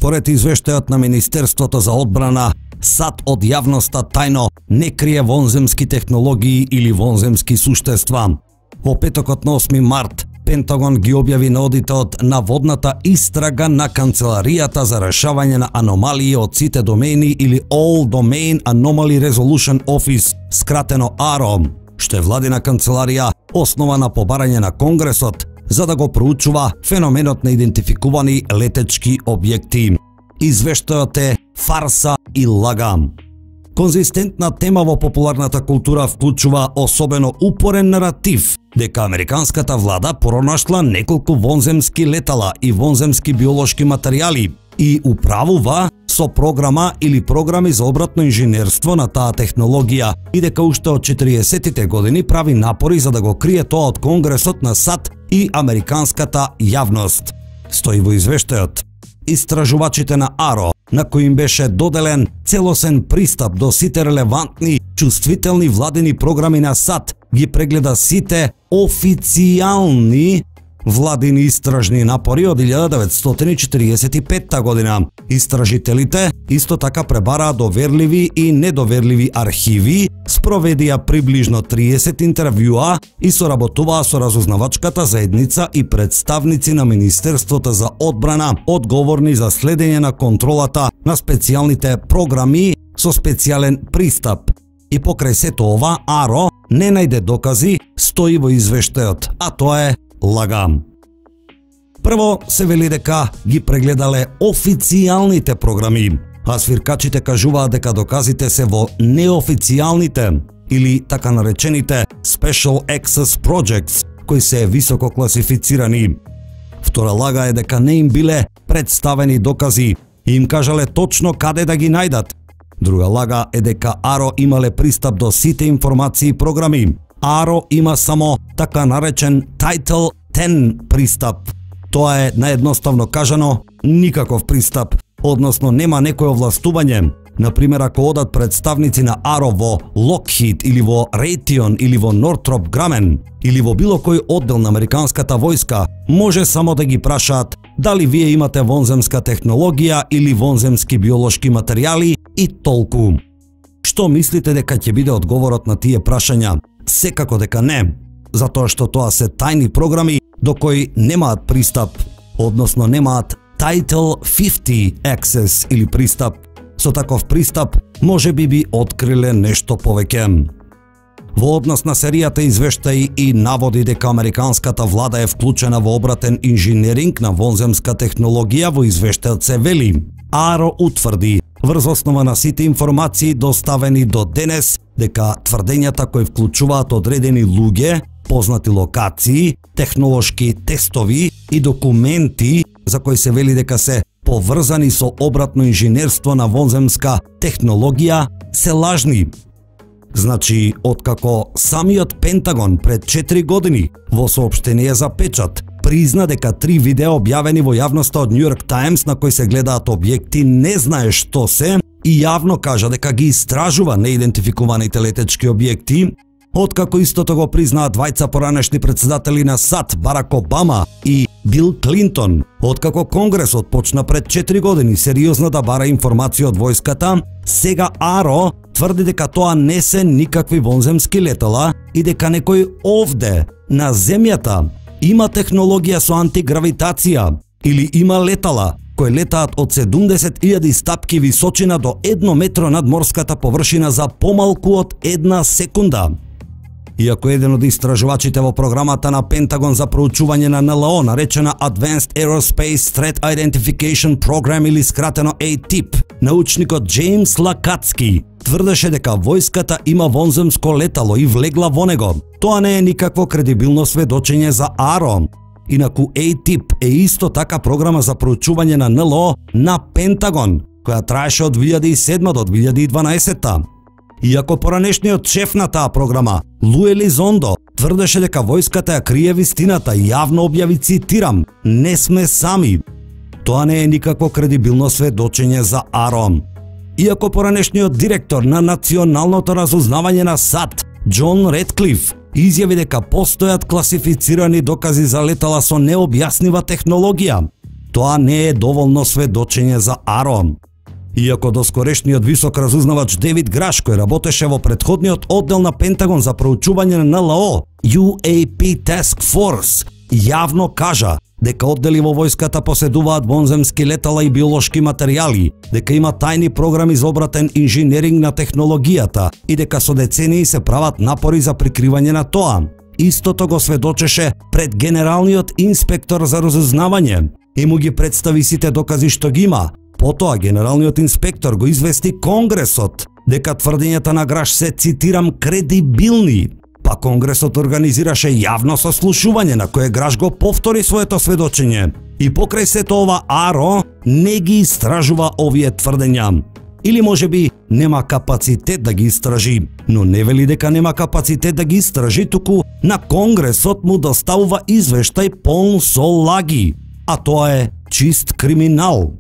Според извештајот на Министерството за одбрана, САД од јавноста тајно не крие вонземски технологии или вонземски суштества. Во петокот на 8 март, Пентагон ги објави на одитот наводната истрага на Канцеларијата за решавање на аномалии од сите домени или All Domain Anomaly Resolution Office, скратено ARO, што е владина канцеларија основана по барање на Конгресот за да го проучува феноменот на идентификувани летечки објекти. Извештајот е фарса и лага. Конзистентна тема во популарната култура вклучува особено упорен наратив дека американската влада пронашла неколку вонземски летала и вонземски биолошки материјали и управува со програма или програми за обратно инженерство на таа технологија и дека уште од 40-тите години прави напори за да го крие тоа од Конгресот на САД и американската јавност. Стои во извештајот. Истражувачите на ARO, на кои им беше доделен целосен пристап до сите релевантни, чувствителни владени програми на САД, ги прегледа сите официјални владини истражни напори од 1945 година. Истражителите исто така пребараа доверливи и недоверливи архиви, спроведија приближно 30 интервјуа и соработуваа со разузнавачката заедница и представници на Министерството за одбрана, одговорни за следење на контролата на специјалните програми со специјален пристап. И покрај сето ова, ARO не најде докази, стои во извештајот, а тоа е лага. Прво се вели дека ги прегледале официјалните програми, а свиркачите кажуваат дека доказите се во неофицијалните или така наречените Special Access Projects, кои се високо класифицирани. Втора лага е дека не им биле представени докази и им кажале точно каде да ги најдат. Друга лага е дека ARO имале пристап до сите информации и програми. ARO има само така наречен Title 10 пристап. Тоа е наедноставно кажано никаков пристап, односно нема некое овластување. Например, ако одат представници на ARO во Lockheed или во Raytheon или во Northrop Grumman или во било кој оддел на американската војска, може само да ги прашаат дали вие имате вонземска технологија или вонземски биолошки материјали и толку. Што мислите дека ќе биде одговорот на тие прашања? Секако дека не, затоа што тоа се тајни програми до кои немаат пристап, односно немаат Title 50 Access или пристап. Со таков пристап може би откриле нешто повеќе. Во однос на серијата извештаи и наводи дека американската влада е вклучена во обратен инженеринг на вонземска технологија, во извештајот се вели: ARO утврди врз основа на сите информации доставени до денес дека тврдењата кои вклучуваат одредени луѓе, познати локации, технолошки тестови и документи за кои се вели дека се поврзани со обратно инженерство на вонземска технологија, се лажни. Значи, откако самиот Пентагон пред 4 години во соопштение за печат призна дека 3 видеа објавени во јавноста од New York Times на кои се гледаат објекти не знае што се и јавно кажа дека ги истражува неидентификуваните летечки објекти, откако истото го признаа двајца поранешни председатели на САД, Барак Обама и Бил Клинтон, откако Конгресот почна пред 4 години сериозно да бара информации од војската, сега ARO тврди дека тоа не се никакви вонземски летала и дека некој овде, на земјата, има технологија со антигравитација или има летала кои летаат од 70.000 стапки височина до 1 метро над морската површина за помалку од 1 секунда. Иако еден од истражувачите во програмата на Пентагон за проучување на НЛО, наречена Advanced Aerospace Threat Identification Program или скратено ATIP, научникот Джеймс Лакацки тврдеше дека војската има вонземско летало и влегла во него. Тоа не е никакво кредибилно сведочење за ARO. Инаку ATIP е исто така програма за проучување на НЛО на Пентагон, која траеше од 2007 до 2012. Иако поранешниот шеф на таа програма, Лу Елизондо, тврдеше дека војската ја крие вистината и јавно објави, цитирам: "Не сме сами." Тоа не е никакво кредибилно сведочење за ARO. Иако поранешниот директор на Националното разузнавање на САД, Џон Редклиф, изјави дека постојат класифицирани докази за летала со необјаснива технологија. Тоа не е доволно сведочење за АРО. Иако доскорешниот висок разузнавач Девид Граш, кој работеше во претходниот оддел на Пентагон за проучување на НЛО, UAP Task Force, јавно кажа дека оддели во војската поседуваат вонземски летала и биолошки материјали, дека има тајни програми за обратен инженеринг на технологијата и дека со децении се прават напори за прикривање на тоа. Истото го сведочеше пред генералниот инспектор за разузнавање и му ги представи сите докази што ги има. Потоа генералниот инспектор го извести Конгресот дека тврдењата на Граш се, цитирам, кредибилни. Па Конгресот организираше јавно сослушување на кое Граш го повтори своето сведочење. И покрај сето ова АРО не ги истражува овие тврдења. Или можеби нема капацитет да ги истражи, но не вели дека нема капацитет да ги истражи, туку на Конгресот му доставува извештај полн со лаги, а тоа е чист криминал.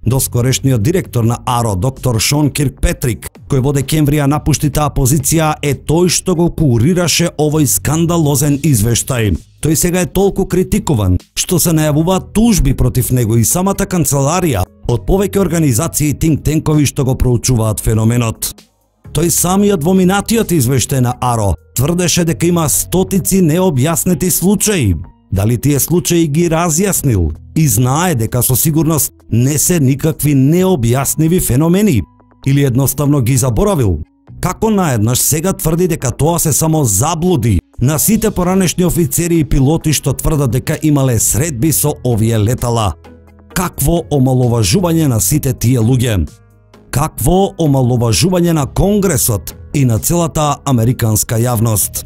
Доскорешниот директор на АРО, доктор Шон Киркпетрик, кој во декември ја напушти таа позиција, е тој што го курираше овој скандалозен извештај. Тој сега е толку критикуван, што се најавуваат тужби против него и самата канцеларија од повеќе организации и тинк-тенкови што го проучуваат феноменот. Тој самиот во минатиот извештај на АРО тврдеше дека има стотици необјаснети случаи. Дали тие случаи ги разјаснил и знае дека со сигурност не се никакви необјасневи феномени или едноставно ги заборавил? Како наеднаш сега тврди дека тоа се само заблуди на сите поранешни офицери и пилоти што тврдат дека имале средби со овие летала? Какво омаловажување на сите тие луѓе? Какво омаловажување на Конгресот и на целата американска јавност?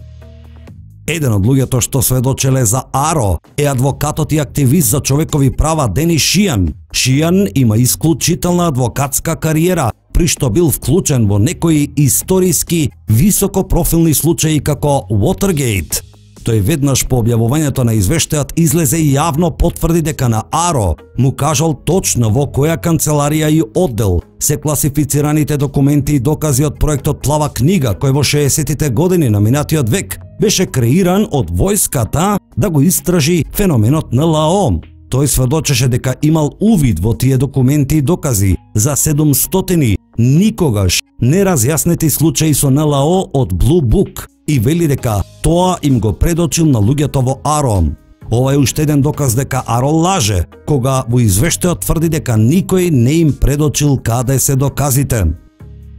Еден од луѓето што сведочеле за АРО е адвокатот и активист за човекови права Денис Шијан. Шијан има исклучителна адвокатска кариера, при што бил вклучен во некои историски високопрофилни случаи како Watergate. Тој веднаш по објавувањето на извештајот излезе и јавно потврди дека на АРО му кажал точно во која канцеларија и оддел се класифицираните документи и докази од проектот Плава книга, кој во 60-тите години на минатиот век беше креиран од војската да го истражи феноменот НЛО. Тој сведочеше дека имал увид во тие документи и докази за 700 никогаш неразјаснети случаи со НЛО од Blue Book и вели дека тоа им го предочил на луѓето во АРО. Ова е уште еден доказ дека АРО лаже, кога во извештајот тврди дека никој не им предочил каде се доказите.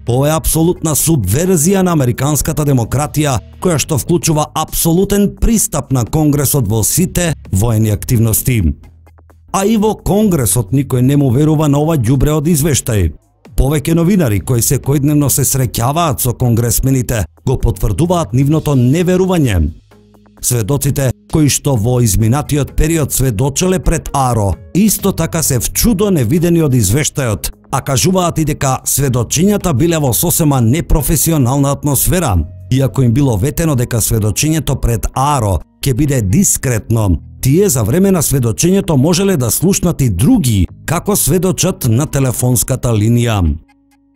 Ова е апсолутна субверзија на американската демократија, која што вклучува апсолутен пристап на Конгресот во сите воени активности. А и во Конгресот никој не му верува на ова ѓубре од извештај. Повеќе новинари кои секојдневно се среќаваат со конгресмените го потврдуваат нивното неверување. Сведоците кои што во изминатиот период сведочеле пред АРО исто така се вчудо невидени од извештајот, а кажуваат и дека сведочењата биле во сосема непрофесионална атмосфера, иако им било ветено дека сведочењето пред АРО ќе биде дискретно. Тие за време на сведочењето можеле да слушнат и други како сведочат на телефонската линија.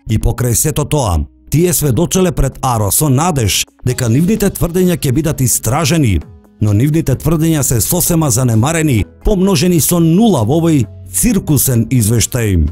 И покрај сето тоа, тие сведочеле пред АРО со надеж дека нивните тврдења ќе бидат истражени, но нивните тврдења се сосема занемарени, помножени со нула во овој циркусен извештај.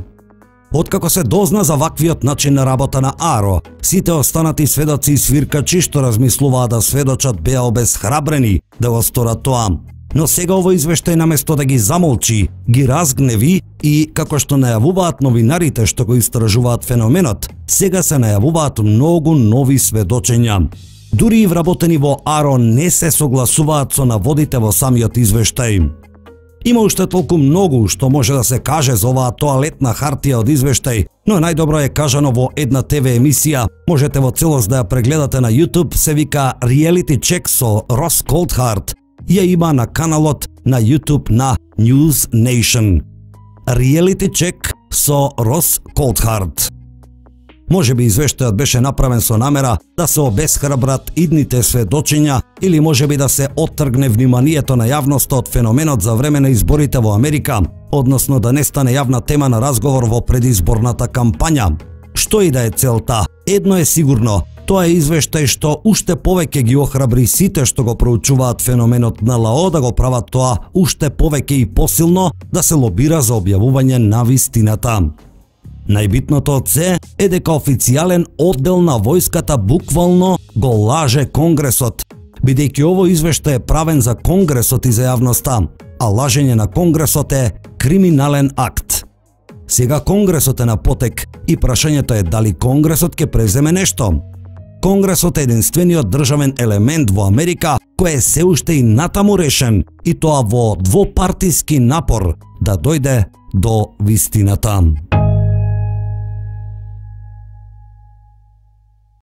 Откако се дозна за ваквиот начин на работа на АРО, сите останати сведоци и свиркачи што размислуваа да сведочат беа обесхрабрени да го сторат тоа. Но сега овој извештај наместо да ги замолчи, ги разгневи и, како што најавуваат новинарите што го истражуваат феноменот, сега се најавуваат многу нови сведочења. Дури и вработени во АРО не се согласуваат со наводите во самиот извештај. Има уште толку многу што може да се каже за оваа тоалетна хартија од извештај, но најдобро е кажано во една ТВ емисија. Можете во целост да ја прегледате на YouTube, се вика Reality Check со Рос Колдхарт. Ја има на каналот на YouTube на News Nation. Reality Check со Рос Колдхарт. Може би извештајот беше направен со намера да се обесхрабрат идните сведочења или може би да се оттргне вниманието на јавноста од феноменот за време на изборите во Америка, односно да не стане јавна тема на разговор во предизборната кампања. Што и да е целта, едно е сигурно, Тоа е извештај што уште повеќе ги охрабри сите што го проучуваат феноменот НЛО да го прават тоа уште повеќе и посилно да се лобира за објавување на вистината. Најбитното од се е дека официјален оддел на војската буквално го лаже Конгресот, бидејќи овој извештај е правен за Конгресот и за јавноста, а лажење на Конгресот е криминален акт. Сега Конгресот е на потек и прашањето е дали Конгресот ќе преземе нешто. Конгресот е единствениот државен елемент во Америка кој е се уште и натаму решен, и тоа во двопартиски напор да дојде до вистината.